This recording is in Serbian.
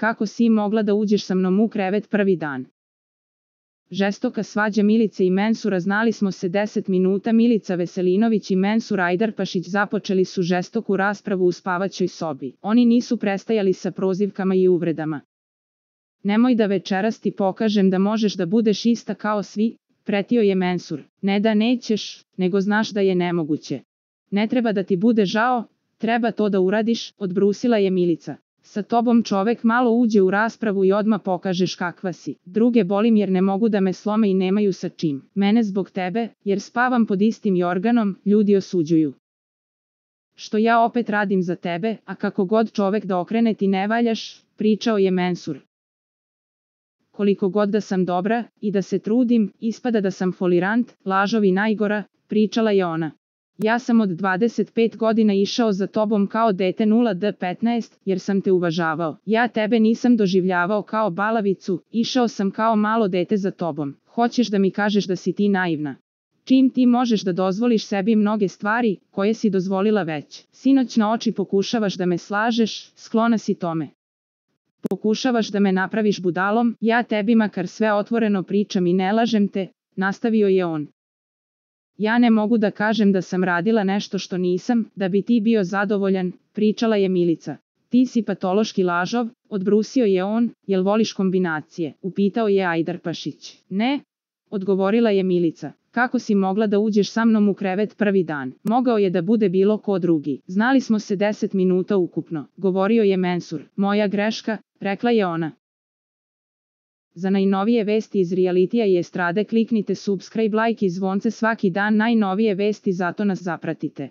kako si mogla da uđeš sa mnom u krevet prvi dan. Žestoka svađa Milice i Mensura. Znali smo se 10 minuta. Milica Veselinović i Mensur Ajdarpašić započeli su žestoku raspravu u spavaćoj sobi. Oni nisu prestajali sa prozivkama i uvredama. Nemoj da večeras ti pokažem da možeš da budeš ista kao svi, pretio je Mensur. Ne da nećeš, nego znaš da je nemoguće. Ne treba da ti bude žao, treba to da uradiš, odbrusila je Milica. Sa tobom čovek malo uđe u raspravu i odmah pokažeš kakva si. Druge bolim jer ne mogu da me slome i nemaju sa čim. Mene zbog tebe, jer spavam pod istim jorganom, ljudi osuđuju. Što ja opet radim za tebe, a kako god čovek da okrene ti ne valjaš, pričao je Mensur. Koliko god da sam dobra i da se trudim, ispada da sam folirant, lažov i najgora, pričala je ona. Ja sam od 25 godina išao za tobom kao dete 0D15, jer sam te uvažavao. Ja tebe nisam doživljavao kao balavicu, išao sam kao malo dete za tobom. Hoćeš da mi kažeš da si ti naivna? Čim ti možeš da dozvoliš sebi mnoge stvari, koje si dozvolila već. Sinoć na oči pokušavaš da me slažeš, sklona si tome. Pokušavaš da me napraviš budalom, ja tebi makar sve otvoreno pričam i ne lažem te, nastavio je on. Ja ne mogu da kažem da sam radila nešto što nisam, da bi ti bio zadovoljan, pričala je Milica. Ti si patološki lažov, odbrusio je on, jel voliš kombinacije, upitao je Ajdarpašić. Ne, odgovorila je Milica. Kako si mogla da uđeš sa mnom u krevet prvi dan? Mogao je da bude bilo ko drugi. Znali smo se 10 minuta ukupno, govorio je Mensur. Moja greška, rekla je ona. Za najnovije vesti iz realitija i estrade kliknite subscribe, like i zvonce svaki dan. Najnovije vesti, zato nas zapratite.